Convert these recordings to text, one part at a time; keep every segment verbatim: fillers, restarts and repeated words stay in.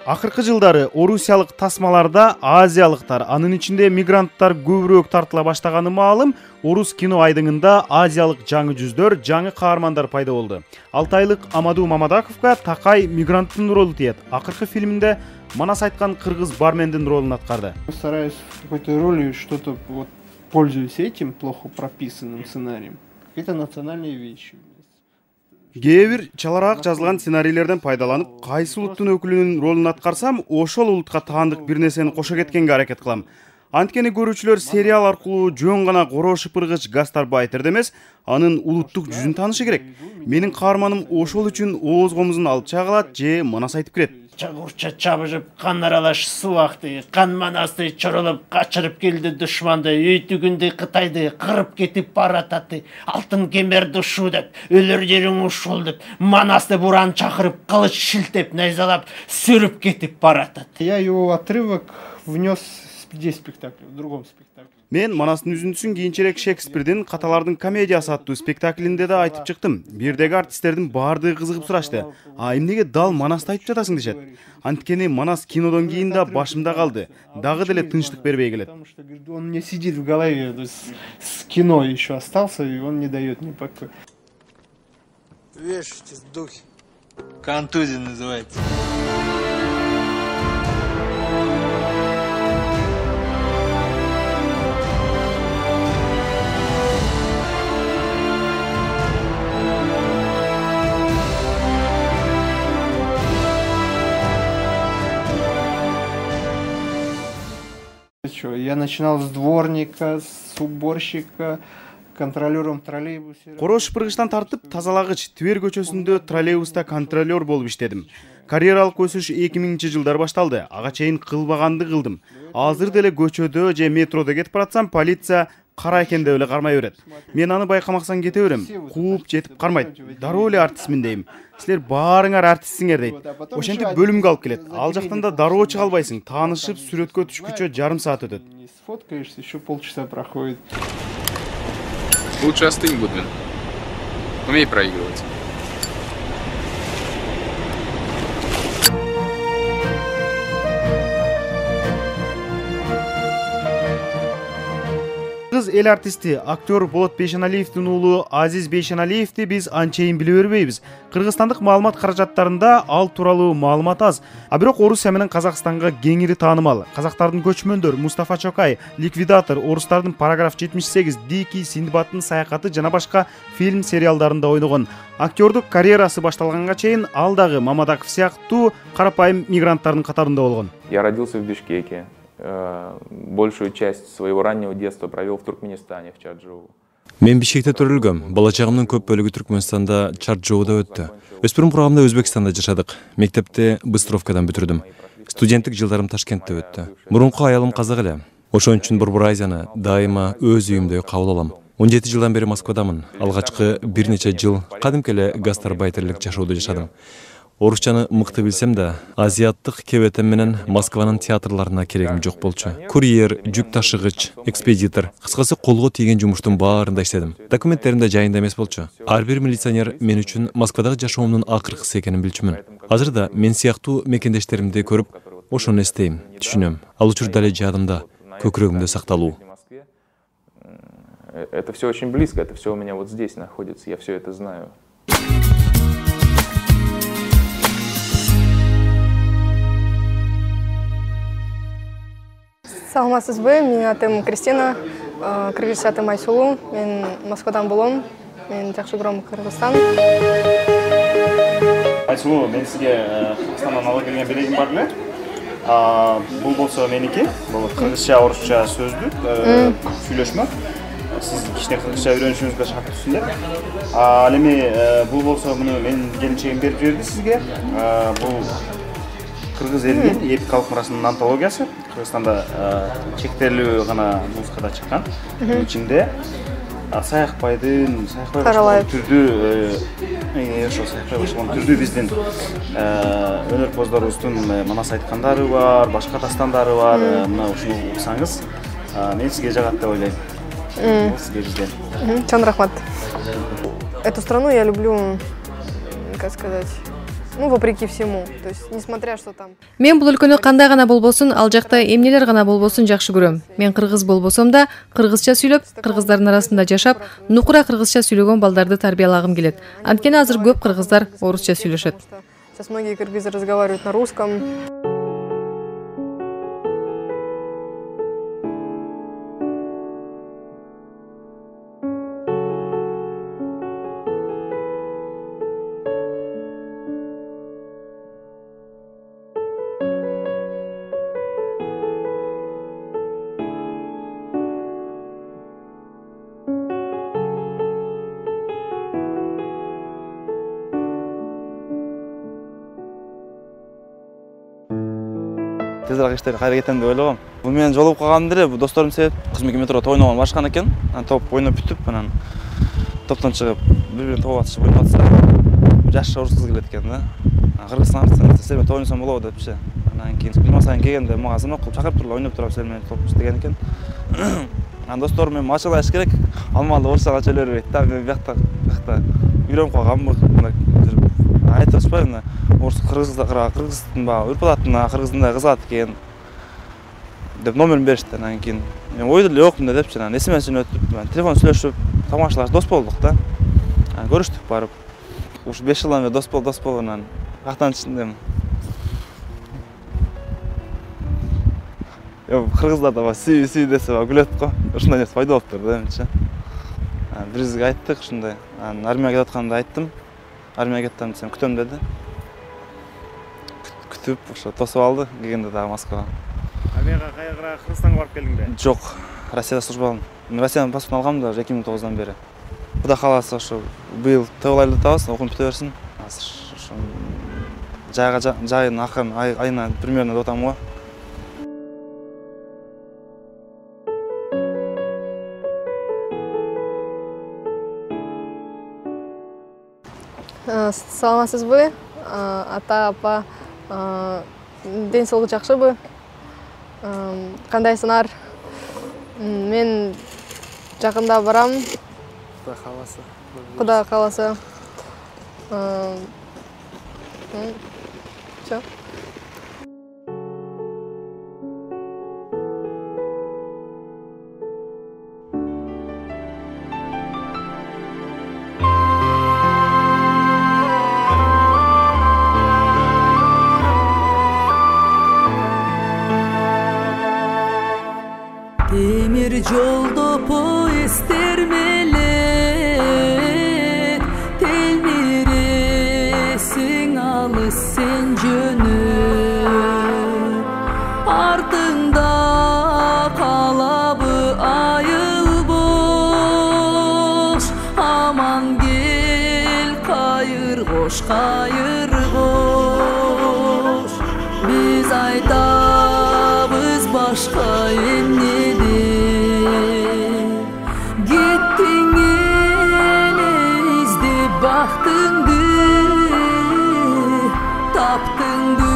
Акыркы жылдары орусиялык тасмаларда азиялыктар, анын ичинде мигранттар көбүрөөк тартыла баштаганы маалым. Орус кино айдыңында азиялык жаңы жүздөр, жаңы каармандар пайда болду. алты айлык Амаду Мамадаковго Такай мигранттын ролу тиет. Акыркы фильминде Манас айткан кыргыз бармендин ролун аткарды. Стараюсь в какой-то роли что-то вот пользуюсь этим плохо прописанным сценарием. Какие-то национальные вещи. Кээ бир чалараак жазылган сценарийлерден пайдаланып, кайсы улуттун өкүлүнүн ролун аткарсам, ошол улутка таандык бир нерсени кошо кеткенге аракет кылам. Анткени көрүүчүлөр сериал аркылуу жөн гана коро шыпыргыч гастарбайтерди эмес, анын улуттук жүзүн таанышы керек. Менин каарманым ошол үчүн ооз комузун алып чагылат же Манас айтып кирет. Чагурча чабышып, кан аралаш суу акты, кан Манасты чоролоп качырып келди душманды, өйтүгүндү Кытайды кырып кетип барататы, алтын кемерди ушу деп, өлөр жериң ушул деп, Манасты буран чакырып, кылыч шилтеп, найзалап, сүрүп кетип баратат. Я его отрывок внес здесь спектакль, в другом спектакле. Мен Манастын үзүндүсүн кийинчерээк Шекспирдин Каталардын комедиясы аттуу спектаклинде да айтып чыктым. Бирдеги артисттердин баардыгы кызыгып сурашты. А эмнеге дал Манасты айтып жатасың дешет. Анткени Манас кинодон кийин да башымда калды. Дагы деле тынчтык бербей келет. Потому что он не сидит в голове, то есть с кино еще остался, и он не дает мне покоя. Вешайтесь, духи. Контузия называется. Я начинал с дворника, с уборщика, контролером троллейбуса. Коро шыпыргычтан тартып, тазалагыч Тибер көчөсүндө троллейбуста контролер болуп иштедим. Карьералык өсүш эки миңинчи жылдар башталды. Ага чейин кылбаганды кылдым. Азыр деле көчөдө же метродо кетип баратсам, полиция кара экен деп эле кармай берет. Мен аны байкамаксан кете берем. Кууп жетип кармайт. Дароо эле артистмин дейм. Силер баарыңар артистсиңер дейт. Ошентип бөлүмгө алып келет. Ал жактан да дароо чыга албайсың. Таанышып, сүрөткө түшкүчө жарым саат өтөт. Сфоткаешься, еще полчаса проходит. Лучше остынь, Гудвин. Умей проигрывать. Кыз эл артисти, актер Болот Бейшеналиевдин уулу Азиз Бейшеналиевди биз анчейин биле бербейбиз. Кыргызстандык маалымат каражаттарында ал тууралуу маалымат аз. А бирок Орусия менен Казакстанга кеңири таанымал. Казактардын көчмөндөр Мустафа Чокай, Ликвидатор, орустардын Параграф жетимиш сегиз, Дикий, Синдбаддын саякаты жана башка фильм сериалдарында ойногон. Актердук карьерасы башталганга чейин ал дагы Мамадаков сыяктуу карапайым мигранттардын катарында болгон. Я родился в Бишкеке. Большую часть своего раннего детства провел в Туркменистане, в Чарджоу. Мен Бишкекте төрөлгөм. Бала чагымдын көп бөлүгү Түркмөнстанда, Чарджоуда өттү. Өспүрүм курагымда Өзбекстанда жашадык. Мектепте Быстровкадан бүтүрдүм. Студенттик жылдарым Ташкентте өттү. Мурунку аялым казак эле. Ошон үчүн Борбор Азияны дайыма өз үйүмдөй кабыл алам. он жети жылдан бери Москвадамын. Алгачкы бир нече жыл кадимки эле гастарбайтерлик жашоодо жашадым. Орусчаны мыкты билсем да, азиаттык кебетем менен Москванын театрларына керегим жок болчу. Курьер, жүк ташыгыч, экспедитор, кыскасы колго тийген жумуштун баарында иштедим. Документтерим да жайында эмес болчу. Ар бир милиционер мен үчүн Москвадагы жашоомдун акыркысы экенин билчүмүн. Азыр да мен сыяктуу мекендештеримди көрүп, ошону эстейм, түшүнөм. Ал учурда эле жадымда, көкүрөгүмдө сакталуу. Это все очень близко, это все у меня вот здесь находится, я все это знаю. Саламатсызбы, менин атым Кристина, кыргызча атым Айсулуу. Мен Москвадан болом. Мен жакшы көрөм Кыргызстан. Айсулуу, мен сизге Кыргызстандан ала келген белегим бар беле? Бул болсо меники. Бул кыргызча, орусча сөздүк, сүйлөшмө. Сиз кичине кыргызча үйрөнүшүңүзгө шарт түшүндүр. Ал эми бул болсо муну менин келинчегим берип жиберди сизге. Бул кыргыз элинин эпикалык мурасынын антологиясы. Кыргызстанда чектелүү гана нускада чыккан. Ичинде Саякбайдын, Саякбай түрдүү, ошо Саякбай башлаган түрдүү биздин өнөрпоздорубуздун Манас айткандары бар, башка дастандары бар. Мына ушуну уксаңыз, мен сизге жагат деп ойлойм. Сизге бизден. Чоң рахмат. Эту страну я люблю, как сказать, ну, вопреки всему. То есть, несмотря что там. Мен бул өлкөнү кандай гана болбосун, ал жакта эмнелер гана болбосун жакшы көрөм. Мен кыргыз болбосом да, кыргызча сүйлөп, кыргыздардын арасында жашап, нукура кыргызча сүйлөгөн балдарды тарбиялагым келет. Анткени азыр көп кыргыздар орусча сүйлөшөт. Сейчас многие кыргызы разговаривают на русском. Тезирээк иштеп кайра кетем деп ойлогом. Бул менен жолугуп калганым деле бул досторум себеп. Кызмек метрода ойногон башкан экен. Анан топ ойноп бүтүп, анан топтон чыгып, бири-бирин топ атышып ойноп атса, жаш орус кыз келет экен да. Кыргызстан арасында сен менен топ ойносом болобу депчи. Анан кийин билмасаң келгенде мага сынок кылып чакырып туруп ойноп турам сен менен топ деген экен. Анан досторум менен ачылаш керек. Алмалы орусча чөйлөр берет да. Мен биякта, биякта үйрөнүп калганмын. Айтышпайм, орус кыргыздар кыргыздын баягы үрп-адатына кыргыздындай кызат экен деп номерин беришти. Анан кийин мен ойдо эле жокмун депчи, анан эсимесин өтүп, телефон сүйлөшүп, тамашалаш дос болдук да. Анан көрүштүк барып. Ушу беш жылдан бери дос бол, дос бол, анан кактан ичиндемин. Yo, кыргыздар да сүй сүй десе күлөт го. Ушундай нерсе пайда болуптур да менимче. Анан биризге айттык ушундай. Анан армияга кетип атканда айттым. Армияга кеттим десем күтөм деди. Күтүп, ошо тосуп алды, келгенде дагы Москвага. Армияга кайра Кыргызстанга барып келдиңби? Жок, Россияда служба алдым. Мен Россиядан паспорт алгам да эки миң тогуздан бери. Кудай кааласа ошо быйыл төгүл айлы табыз, окуп бүтө берсин. Азыр ошо жайга жайын акырын айына примерно деп атам го. Саламатсызбы? Ата, апа, ден соолугу жакшыбы? Кандайсыңар? Мен жакында барам. Кудай кааласа. Кудай кааласа. Всё. Темир жолдо поезддер мелек телмиресиң алыс сен жөнөп, артыңда калабы айыл бош, аман кел кайыр кош кайыр кош, биз айтабыз башка эмне бактыңды таптыңды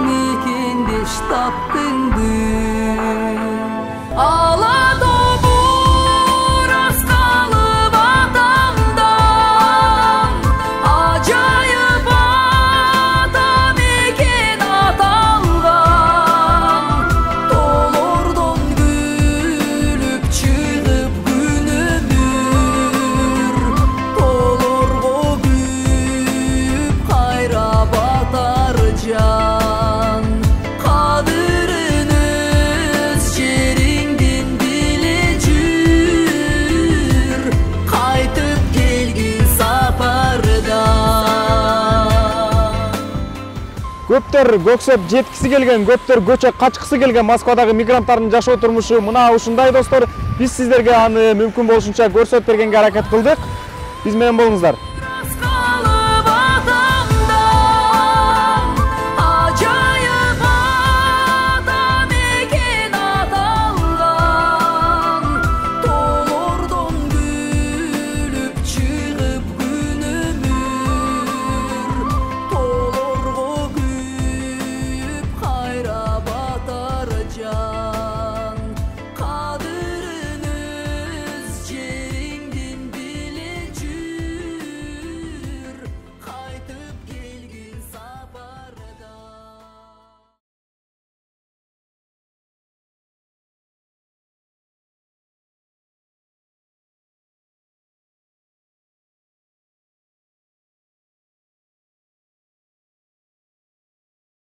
мекендеш таптыңды ала тобур аскалып атамдан ажайып ата мекен аталган толордон күлүп чыгып Көптөр көксөп жеткиси келген, көптөр көчө качкысы келген Москвадагы мигранттардын жашоо турмушу мына ушундай достор. Биз сиздерге аны мүмкүн болушунча көрсөтүп бергенге аракет кылдык. Биз менен болуңуздар.